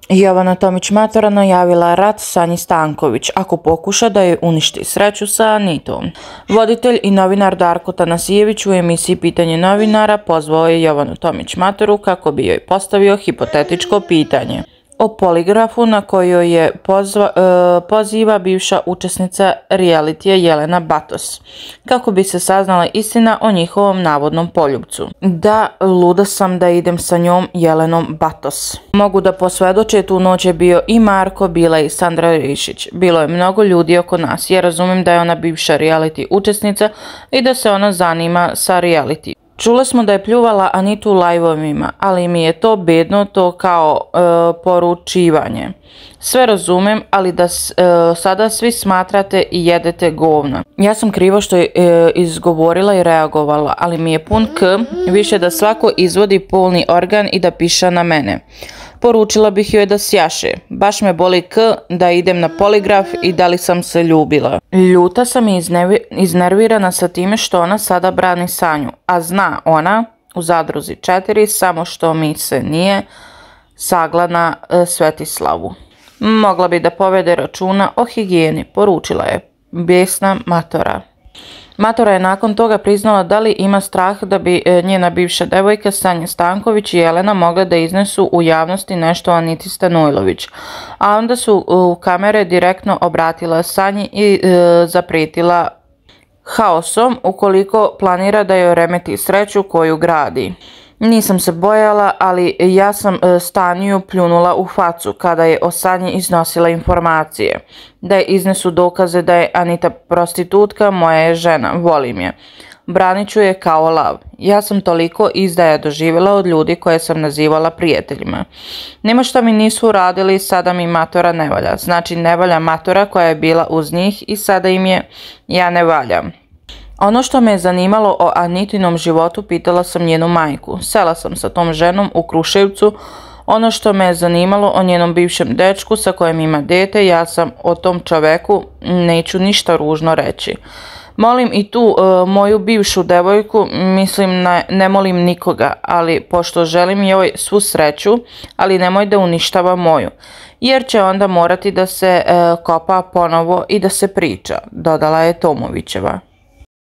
Jovana Tomić matora najavila rat Sanji Stanković ako pokuša da joj uništi sreću sa Anitom. Voditelj i novinar Darko Tanasijević u emisiji Pitanje novinara pozvao je Jovanu Tomić matoru kako bi joj postavio hipotetičko pitanje o poligrafu na kojoj je poziva bivša učesnica realitija Jelena Batos, kako bi se saznala istina o njihovom navodnom poljupcu. Da, luda sam da idem sa njom Jelenom Batos. Mogu da posvedoče, tu noć je bio i Marko, bila i Sandra Rišić. Bilo je mnogo ljudi oko nas. Ja razumem da je ona bivša reality učesnica i da se ona zanima sa reality. Čule smo da je pljuvala Anitu u live-ovima, ali mi je to bedno, to kao poručivanje. Sve razumem, ali da sada svi smatrate i jedete govna. Ja sam krivo što je izgovorila i reagovala, ali mi je pun k, više da svako izvodi polni organ i da piša na mene. Poručila bih joj da sjaše. Baš me boli k da idem na poligraf i da li sam se ljubila. Ljuta sam i iznervirana sa time što ona sada brani Sanju, a zna ona u Zadruzi 4 samo što mi se nije sagla Svetislavu. Mogla bi da povede računa o higijeni, poručila je besna matora. Matora je nakon toga priznala da li ima strah da bi njena bivša devojka Sanja Stanković i Jelena mogle da iznesu u javnosti nešto o Aniti Stanojlović, a onda su u kamere direktno obratila Sanji i zaprijetila haosom ukoliko planira da joj remeti sreću koju gradi. Nisam se bojala, ali ja sam Stanju pljunula u facu kada je o Sanji iznosila informacije. Da je iznesu dokaze da je Anita prostitutka, moja je žena, volim je. Branit ću je kao lav. Ja sam toliko izdaja doživjela od ljudi koje sam nazivala prijateljima. Nema što mi nisu uradili, sada mi matora ne valja. Znači ne valja matora koja je bila uz njih i sada im je ja ne valjam. Ono što me je zanimalo o Anitinom životu pitala sam njenu majku. Sela sam sa tom ženom u Kruševcu. Ono što me je zanimalo o njenom bivšem dečku sa kojim ima dete, ja sam o tom čoveku neću ništa ružno reći. Molim i tu moju bivšu devojku, mislim ne molim nikoga, ali pošto želim joj svu sreću, ali nemoj da uništava moju, jer će onda morati da se kopa ponovo i da se priča, dodala je Tomovićeva.